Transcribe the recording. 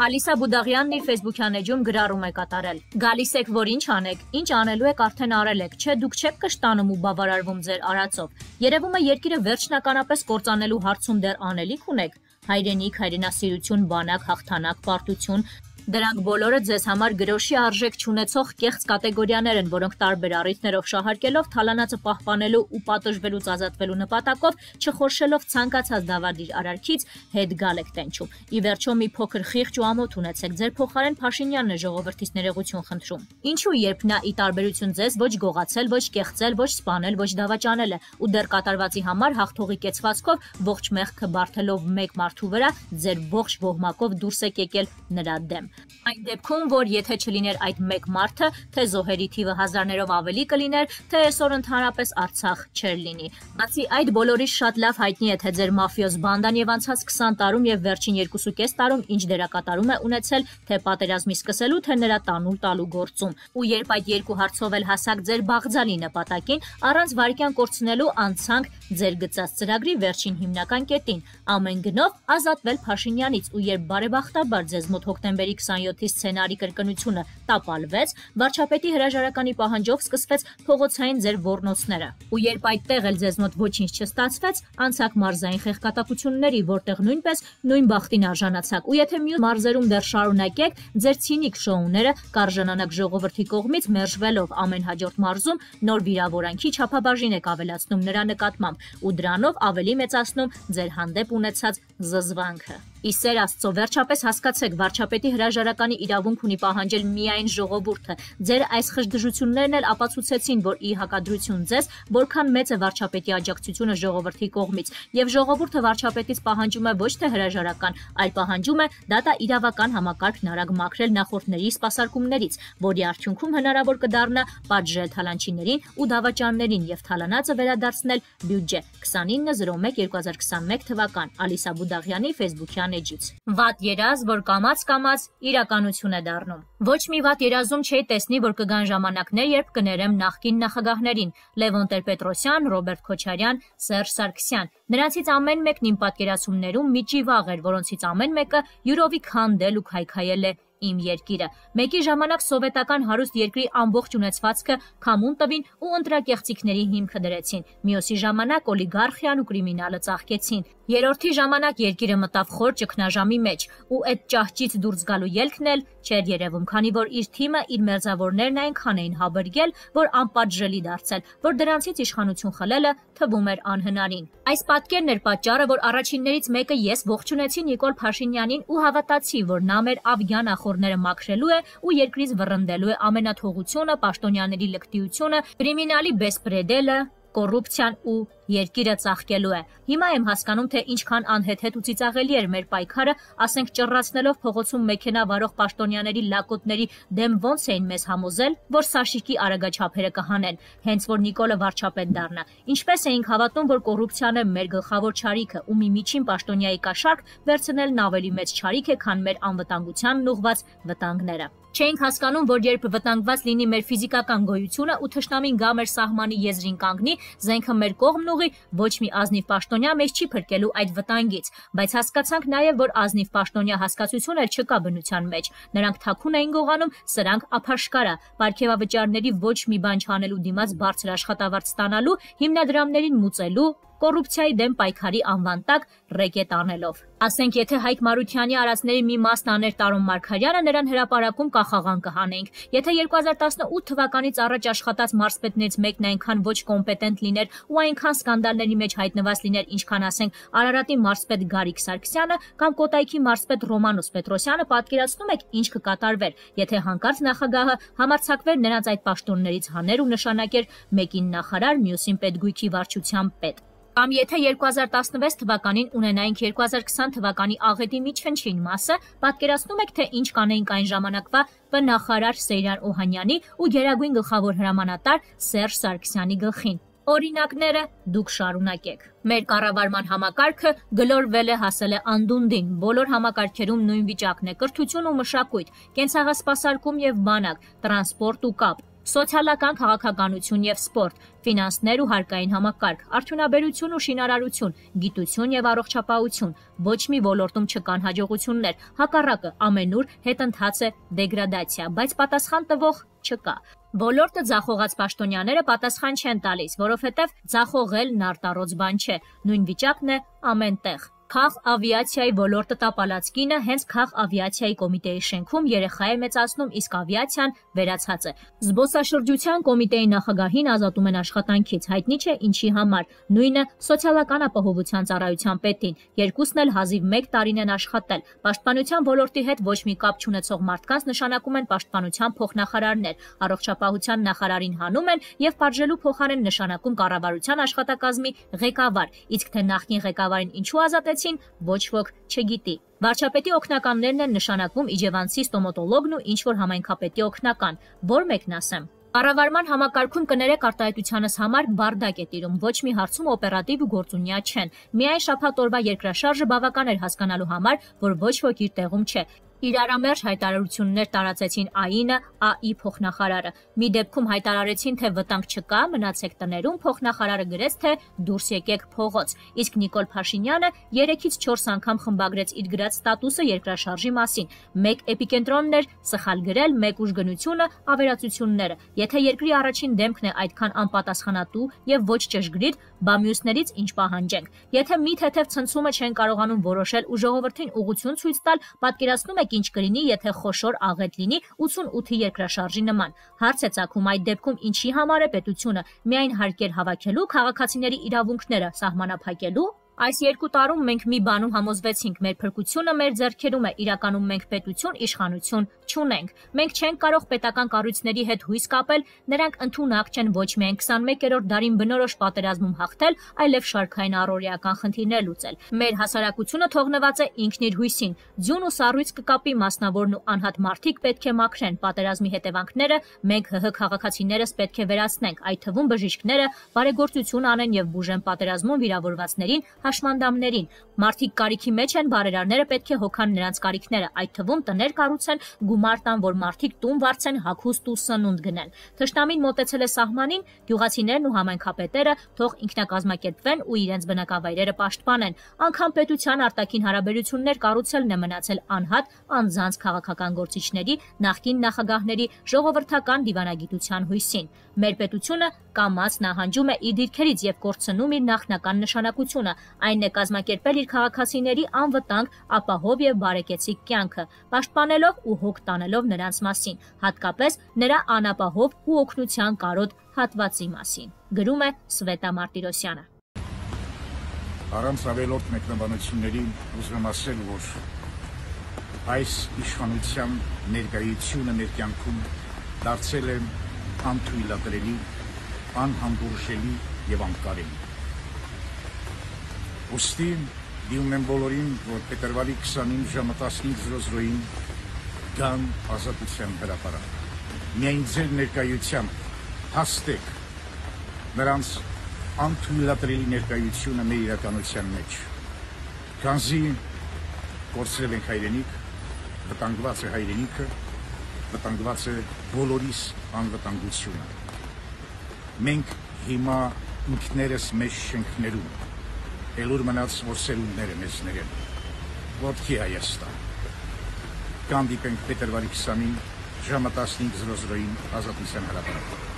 Ալիսա Բուդաղյանն իր Facebook-յան էջում գրառում է կատարել։ Գալիս եք, որ ինչ անեք, ինչ անելու եք արդեն արել եք, չէ դուք չեք կշտանում ու բավարարվում ձեր արածով։ Երևում է երկիրը վերջնականապես կործանելու հարցում դեռ անելիք ունեք։ Հայրենիք, հայրենասիրություն, բանակ, հաղթանակ, պարտություն, դրանք բոլորը ձեզ համար գրոշի արժեք չունեցող կեղծ կատեգորիաներ են, որոնք տարբեր առիթներով շահարկելով թալանածը պահպանելու ու պատժվելուց ազատվելու նպատակով, չխորշելով ցանկացած դավադիր արարքից հետ գալ եք տենչում։ Ի վերջո մի փոքր խիղճ ու ամոթ ունեցեք, ձեր փոխարեն Փաշինյանն է ժողովրդից ներողություն խնդրում։ Ինչու երբ նա ի տարբերություն ձեզ ոչ գողացել, ոչ կեղծել, ոչ սպանել, ոչ դավաճանել է ու դեռ կատարվածի համար հաղթողի կեցվածքով ողջ մեղքը բարթելով մեկ մարդու վրա, ձեր ողջ ոհմակով դուրս եք եկել նրա դեմ։ Այն դեպքում, որ եթե չլիներ այդ մեկ մարդը, թե զոհերի թիվը հազարներով ավելի կլիներ, թե այսօր ընդհանրապես Արցախ չէր լինի։ Բացի այդ բոլորիս շատ լավ հայտնի է, թե ձեր մաֆիոզ բանդան եւ անցած 20 տարում եւ վերջին 2.5 տարում ինչ դերակատարում է ունեցել, թե պատերազմի սկսելու, թե նրա տանուլ տալու գործում։ Ու երբ այդ երկու հարցով էլ հասակ ձեր բաղձալի նպատակին, առանց վարքյան կորցնելու անցանք ձեր գծած ծրագրի վերջին հիմնական կետին, ամեն գնով ազատվել Փաշինյանից, ու երբ բարեբախտաբար ձեզ մոտ հոկտեմբերի 27-ի սցենարի կրկնությունը տապալվեց, վարչապետի հրաժարականի պահանջով սկսվեց փողոցային ձեր ոռնոցները։ Ու երբ այդտեղ էլ ձեզ մոտ ոչինչ չստացվեց, անցակ մարզային խեղկատակությունների, որտեղ նույնպես նույն բախտին արժանացաք։ Ու եթե մյուս մարզերում դեռ շարունակեք ձեր ցինիկ շոուները, կարժանանակ ժողովրդի կողմից մերժվելով ամեն հաջորդ մարզում նոր վիրավորանքի չափաբաժին եք ավելացնում նրա նկատմամբ ու դրանով ավելի մեծացնում ձեր հանդեպ ունեցած զզվանքը։ Ի սեր Աստծո, վերջապես հասկացեք, վարչապետի հրաժարականի իրավունք ունի պահանջել միայն ժողովուրդը։ Ձեր այս խժդժություններն էլ ապացուցեցին, որ ի հակադրություն ձեզ, որքան մեծ է վարչապետի աջակցությունը ժողովրդի կողմից, եւ ժողովուրդը վարչապետից պահանջում է ոչ թե հրաժարական, այլ պահանջում է դատաիրավական համակարգն արագ մաքրել նախորդների սպասարկումներից, որի արդյունքում հնարավոր կդառնա պատժել թալանչիներին ու դավաճաններին եւ թալանածը վերադարձնել բյուջե 29/01/2021 թվական Ալիսա Բուդաղյանի Facebook-յան էջից։ Վատ երազ, որ կամաց-կամաց իրականություն է դառնում։ Ոչ մի վատ երազում չէի տեսնի, որ կգան ժամանակներ, երբ կներեմ նախկին նախագահներին՝ Լևոն Տեր-Պետրոսյան, Ռոբերտ Քոչարյան, Սերժ Սարգսյան։ Նրանցից ամեն մեկն իմ պատկերացումներում մի ճիվաղ էր, որոնցից ամեն մեկը յուրովի քանդել ու քայքայել է իմ երկիրը։ Մեկի ժամանակ սովետական հարուստ երկրի ամբողջ ունեցվածքը քամուն տվին ու ընտրակեղծիքների հիմքը դրեցին։ Մյուսի ժամանակ օլիգարխիան ու կրիմինալը ծաղկեցին։ Երրորդի ժամանակ երկիրը մտավ խոր ճգնաժամի մեջ, ու այդ ճահճից դուրս գալու ելքն էլ չէր երևում, քանի որ իր թիմը, իր մերձավորներն այնքան էին հաբրգել, որ անպատժելի դարձել, որ դրանցից իշխանություն խլելը թվում էր անհնարին։ Այս պատկերն էր պատճառը, որ առաջիններից մեկը ես ողջունեցի Նիկոլ Փաշինյանին ու հավատացի, որ նա մեր ավգյան ախորները մաքրելու է ու երկրից վռնդելու է ամենաթողությունը, պաշտոնյաների լկտիությունը, կրիմինալի բեսպրեդելը, կոռուպցիան ու երկիրը ծաղկելու է։ Հիմա եմ հասկանում, թե ինչքան անհեթեթ ու ծիծաղելի էր մեր պայքարը, ասենք ճռռացնելով փողոցում մեքենա վարող պաշտոնյաների լակոտների դեմ ոնց էին մեզ համոզել, որ Սաշիկի արագաչափերը կհանեն, հենց որ Նիկոլը վարչապետ դառնա։ Ինչպես էինք հավատում, որ կոռուպցիան է մեր գլխավոր չարիքը ու մի միջին պաշտոնյայի կաշառք վերցնելն ավելի մեծ չարիք է, քան մեր անվտանգությանն ուղղված վտանգները։ Չէինք հասկանում, որ երբ վտանգված լինի մեր ֆիզիկական գոյությունը ու թշնամին գա մեր սահմանի եզրին կանգնի, զենքը մեր կողմն ուղի, ոչ մի ազնիվ պաշտոնյա մեզ չի փրկելու այդ վտանգից, բայց հասկացանք նաև, որ ազնիվ պաշտոնյա հասկացություն էլ չկա բնության մեջ։ Նրանք թաքուն էին գողանում, սրանք ափաշկարա, պարգևավճարների ոչ մի բան չանելու դիմաց բարձր աշխատավարձ ստանալու, հիմնադրամներին մուծելու, կոռուպցիայի դեմ պայքարի անվան տակ ռեկետ անելով։ Ասենք, եթե Հայկ Մարությանի արածների մի մասն աներ Տարոն Մարգարյանը, նրան հրապարակում կախաղան կհանեինք։ Եթե 2018 թվականից առաջ աշխատած մարզպետներից մեկն այնքան ոչ կոմպետենտ լիներ ու այնքան սկանդալների մեջ հայտնված լիներ, ինչքան ասենք Արարատի մարզպետ Գարիկ Սարգսյանը կամ Կոտայքի մարզպետ Ռոմանոս Պետրոսյանը, պատկերացնում եք ինչ կկատարվեր, եթե հանկարծ նախագահը համարձակվեր նրանց այդ պաշտոններից հաներ ու նշանակեր մեկին նախարար, մյուսին պետգույքի վարչության պետ։ Կամ եթե 2016 թվականին ունենայինք 2020 թվականի աղետի միջφնչին մասը, պատկերացնում եք, թե ինչ կանեինք այն ժամանակվա նախարար Սեյրան Օհանյանի ու գերագույն գլխավոր հրամանատար Սերժ Սարգսյանի գլխին։ Օրինակները դուք շարունակեք։ Մեր կառավարման համակարգը գլորվել է, հասել է անդունդին, բոլոր համակարգերում նույն վիճակն է՝ կրթություն ու մշակույթ, կենցաղասպասարկում եւ բանակ, տրանսպորտ ու կապ, Սոցիալական քաղաքականություն եւ սպորտ, ֆինանսներ ու հարկային համակարգ, արդյունաբերություն ու շինարարություն, գիտություն եւ առողջապահություն, ոչ մի ոլորտում չկան հաջողություններ, հակառակը ամենուր հետընթաց է դեգրադացիա, բայց պատասխան տվող չկա։ Ոլորտը ձախողած պաշտոնյաները պատասխան չեն տալիս, որովհետեւ ձախողելն արտառոց բան չէ, նույն վիճակն է ամենտեղ։ Քաղ ավիացիայի ոլորտը տապալած կինը հենց քաղ ավիացիայի կոմիտեի շենքում երեխա է մեծացնում, իսկ ավիացիան վերացած է։ Զբոսաշրջության կոմիտեի նախագահին ազատում են աշխատանքից, հայտնի չէ ինչի համար, նույնը սոցիալական ապահովության ծառայության պետին, երկուսն էլ հազիվ 1 տարին են աշխատել։ Պաշտպանության ոլորտի հետ ոչ մի կապ չունեցող մարդկանց նշանակում են պաշտպանության փոխնախարարներ, առողջապահության նախարարին հանում են եւ պատժելու փոխարեն նշանակում կառավարության աշխատակազմի ղեկավար, իսկ թե նախկին ղեկավարին ինչու ազատեցին, ոչ ոք չգիտի։ Վարչապետի օգնականներն են նշանակվում իջևանցի ստոմատոլոգն ու ինչ-որ համայնքապետի օգնական, որ մեկն ասեմ։ Կառավարման համակարգում կներեք արտահայտությանս համար բարդակ է տիրում, ոչ մի հարցում օպերատիվ ու գործունյա չեն։ Միայն շաբաթ օրվա երկրաշարժը բավական էր հասկանալու համար, որ ոչ ոք իր տեղում չէ։ Իրարամերժ հայտարարություններ տարածեցին ԱԻՆ-ը, ԱԻ փոխնախարարը։ Մի դեպքում հայտարարեցին, թե վտանգ չկա, մնացեք տներում, փոխնախարարը գրեց, թե դուրս եկեք փողոց։ Իսկ Նիկոլ Փաշինյանը 3-ից 4 անգամ խմբագրեց իր գրած ստատուսը երկրաշարժի մասին։ Մեկ էպիկենտրոնն էր սխալ գրել, մեկ ուժգնությունը, ավերածությունները։ Եթե երկրի առաջին դեմքն է այդքան անպատասխանատու եւ ոչ ճշգրիտ, բա մյուսներից ինչ պահանջենք։ Եթե մի թեթև ցնցումը չեն կարողանում որոշել ու ժողովրդին ուղղություն ցույց տալ, պատկերացնում եք ինչ կլինի, եթե խոշոր աղետ լինի 88-ի երկրաշարժի նման։ Հարց է ծագում այդ դեպքում ինչի համար է պետությունը միայն հարկեր հավաքելու, քաղաքացիների իրավունքները սահմանափակելու։ Այս 2 տարում մենք մի բանում համոզվեցինք, մեր փրկությունը մեր ձեռքերում է, իրականում մենք պետություն, իշխանություն չունենք։ Մենք չենք կարող պետական կառույցների հետ հույս կապել, նրանք ընդունակ չեն ոչ միայն 21-րդ դարին բնորոշ պատերազմում հաղթել, այլև շարքային առօրեական խնդիրներ լուծել։ Մեր հասարակությունը թողնված է ինքն իր հույսին։ Ձյուն ու սառույց կկապի մասնավորն ու անհատ մարդիկ պետք է մաքրեն, պատերազմի հետևանքները մենք ՀՀ քաղաքացիներս պետք է վերացնենք, այդ թվում բժիշկները բարեգործություն անեն եւ բուժեն պատերազմում վիրավորվածներին հաշմանդամներին։ Մարդիկ կարիքի մեջ են, բարերարները պետք է հոգան նրանց կարիքները, այդ թվում տներ կառուցեն, գումար տան, որ մարդիկ տուն վարձեն, հագուստ ու սնունդ գնեն։ Թշնամին մոտեցել է սահմանին, գյուղացիներն ու համայնքապետերը թող ինքնակազմակերպվեն ու իրենց բնակավայրերը պաշտպանեն։ Անկամ պետության արտաքին հարաբերություններ կառուցելն է մնացել անհատ անձանց քաղաքական գործիչների, նախկին նախագահների ժողովրդական դիվանագիտության հույսին։ Մեր պետությունը կամաց նահանջում է իր դիրքերից եւ կորցնում իր նախնական նշանակությունը, այն է կազմակերպել իր քաղաքացիների անվտանգ, ապահով եւ բարեկեցիկ կյանքը, պաշտպանելով ու հոգ տանելով նրանց մասին, հատկապես նրա անապահով ու օգնության կարոտ հատվածի մասին, գրում է Սվետա Մարտիրոսյանը։ Առանց ավելորդ մեկնաբանությունների ուզում ասել, որ այս իշխանության ներկայությունը մեր կյանքում դարձել է անթույլատրելի, անհանդուրժելի եւ անկարելի։ Ոստի դիմում եմ բոլորին, որ փետրվարի 29 ժամը 15:00-ին գան ազատության հրապարակ։ Միայն ձեր ներկայությամբ հաստեք նրանց անթույլատրելի ներկայությունը մեր իրականության մեջ։ Քանզի կորցրել ենք հայրենիք, վտանգված է հայրենիքը, վտանգված է բոլորիս անվտանգությունը։ Մենք հիմա ինքներս մեզ շենքներում, ելուր մնաց, որ սերունդները մեզ ներեն, ոտքի Հայաստան։ Կհանդիպենք փետրվարի 20-ին ժամը 15:00-ին ազատության հրապարակում։